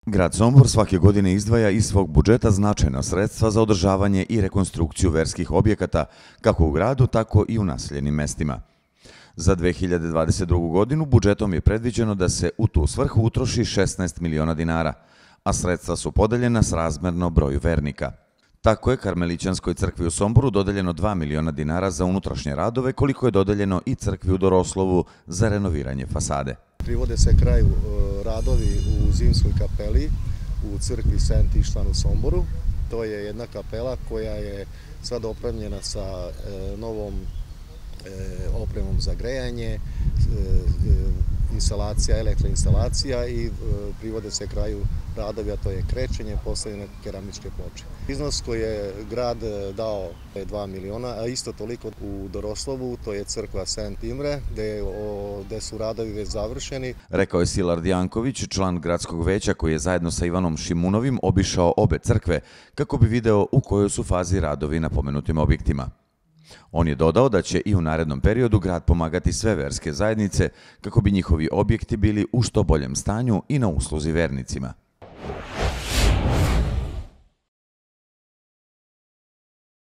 Grad Sombor svake godine izdvaja iz svog budžeta značajna sredstva za održavanje i rekonstrukciju verskih objekata, kako u gradu, tako i u naseljenim mestima. Za 2022. godinu budžetom je predviđeno da se u tu svrhu utroši 16 miliona dinara, a sredstva su podeljena srazmerno broju vernika. Tako je Karmelićanskoj crkvi u Somboru dodeljeno 2 miliona dinara za unutrašnje radove, koliko je dodeljeno i crkvi u Doroslovu za renoviranje fasade. Privode se kraju radovi u zimskoj kapeli u crkvi Sent Ištvan u Somboru. To je jedna kapela koja je sad opremljena sa novom opremom za grejanje, elektroinstalacija i privode se kraju radovi, a to je krečenje, postavljene keramičke ploče. Iznos koji je grad dao je 2 miliona, a isto toliko u Doroslovu, to je crkva Sent Imre, gde su radovi već završeni. Rekao je Silard Janković, član gradskog veća koji je zajedno sa Ivanom Šimunovim obišao obe crkve kako bi video u kojoj su fazi radovi na pomenutim objektima. On je dodao da će i u narednom periodu grad pomagati sve verske zajednice kako bi njihovi objekti bili u što boljem stanju i na usluzi vernicima.